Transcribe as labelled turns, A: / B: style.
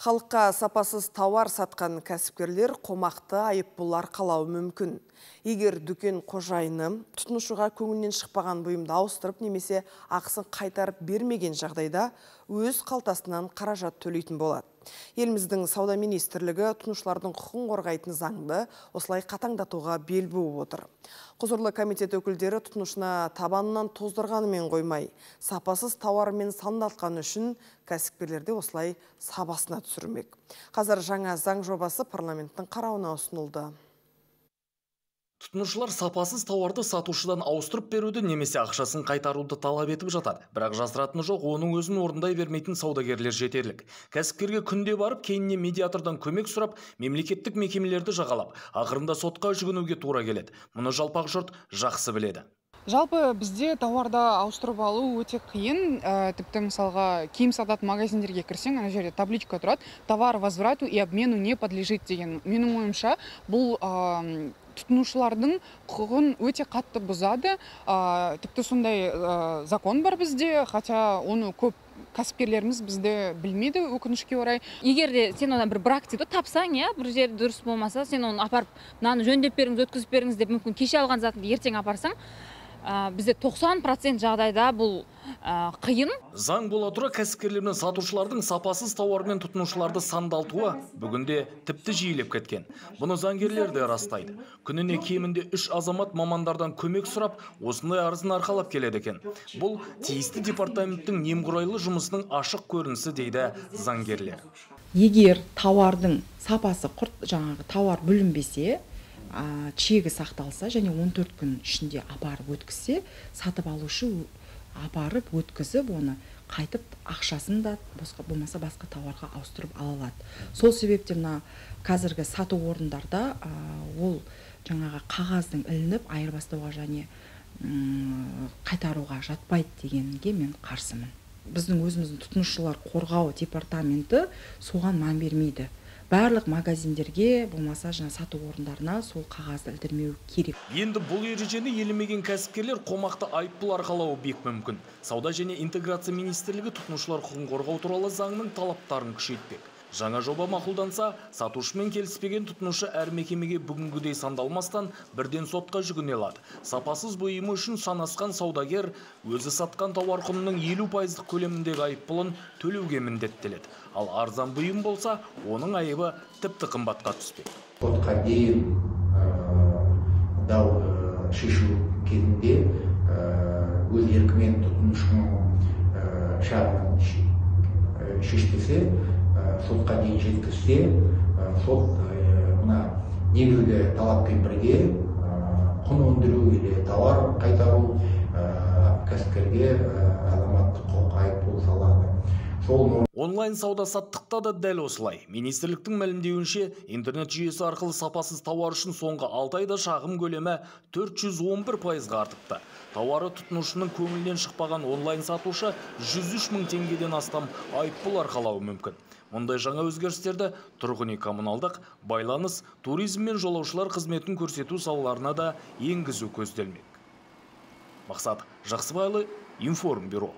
A: Халыққа сапасыз тауар сатқан кәсіпкерлер қомақты айыппұл арқалауы мүмкін. Егер дүкен қожайыны тұтынушыға көңілінен шықпаған бұйымды ауыстырып немесе ақысын қайтарып бермеген жағдайда өз қалтасынан қаражат төлейтін болады. Еліміздің сауда министрлігі тұтынушылардың құқығын қорғайтын заңды осылай қатаңдатуға бел буып отыр. Құзырлы комитет өкілдері тұтынушына табанынан тоздырғанымен қоймай, сапасыз тауармен сандалтқаны үшін кәсіпкерлерді осылай сабасына түсірмек. Қазір жаңа заң жобасы парламенттің қарауына ұсынылды.
B: Тұтынушылар сапасыз тауарды сатушыдан ауыстырып беруді немесе ақшасын қайтаруды талап етіп жатады. Бірақ жасыратыны жоқ, оның өзін орындай бермейтін саудагерлер жетерлік. Кәсіпкерге күнде барып, кейіннен медиатордан көмек сұрап, мемлекеттік мекемелерді жағалап, ақырында сотқа жүгінуге тура келеді. Мұны жалпақ жұрт жақсы біледі.
C: Жалпы бізде тауарды ауыстырып алу өте қиын. Тіпті мысалға киім сататын магазиндерге кірсең, ана жерде табличка тұрады: товар возврату и обмену не подлежит деген. Менің ойымша, бұл тұтынушылардың құқығын өте қатты бұзады. Тіпті сондай закон бар бізде, хотя оны көп кәсіпкерлеріміз бізде білмейді, өкінішке орай.
D: Егер де сен одан бір бракетті тапсаң, бір жер дұрыс болмаса, сен оны апарып, мынаны жөндеп беріңіз, өткізіп беріңіз деп, мүмкін кеше алған затыңды ертең апарсаң, бізде 90% жағдайда бұл қиын.
B: Заң бола тұра кәсіпкерлер мен сатушылардың сапасыз тауармен тұтынушыларды сандалтуы бүгінде тіпті жиілеп кеткен. Бұны заңгерлер де растайды. Күніне кемінде 3 азамат мамандардан көмек сұрап, осындай арызын арқалап келеді екен. Бұл тиісті департаменттің немқұрайлы жұмысының ашық көрінісі дейді заңгерлер.
E: Егер тауардың сапасы жаңағы тауар бүлінбесе, чегі сақталса және 14 күн ішінде апарып өткізсе, сатып алушы апарып өткізіп, оны қайтып ақшасын да болмаса басқа тауарға ауыстырып ала алады. Сол себептен қазіргі сату орындарда ол жаңағы қағаздың ілініп айырбастауға және қайтаруға жатпайды дегенге мен қарсымын. Біздің өзіміздің тұтынушылар қорғау департаменті соған мән бермейді. Барлық магазиндерге, болмаса сату орындарына сол қағазды ілдірмеу керек.
B: Енді бұл ережені елемеген кәсіпкерлер қомақты айыппұл арқалауы бек мүмкін. Сауда және интеграция министрлігі тұтынушылар құқығын қорғау туралы заңның талаптарын күшейтпек. Жаңа жоба мақұлданса, сатушымен келіспеген тұтынушы әр мекемеге бүгінгідей сандалмастан бірден сотқа жүгіне алады. Сапасыз бұйымы үшін санасқан саудагер өзі сатқан тауар құнының 50% көлеміндегі айыппұлын төлеуге міндеттеледі. Ал арзан бұйым болса, оның айыбы тіпті қымбатқа түспек.
F: Сотқа дейін дау шешу кезінде өз еркімен тұтынушының шағымын шешпесе, сотқа дейін жеткізсе, сот мына негізгі талаппен бірге құн өндіру или тауар қайтару кәсіпкерге азаматтық құқық айыппұл салады.
B: Онлайн сауда-саттықта да дәл осылай. Министрліктің мәлімдеуінше, интернет жүйесі арқылы сапасыз тауар үшін соңғы 6 айда шағым көлемі 411% артыпты. Тауары тұтынушының көңілінен шықпаған онлайн сатушы 103 мың теңгеден астам айыппұл арқалауы мүмкін. Мұндай жаңа өзгерістерді тұрғын үй коммуналдық, байланыс, туризм мен жолаушылар қызметін көрсету салаларына да енгізу көзделмек. Мақсат Жақсыбайлы, Информбюро.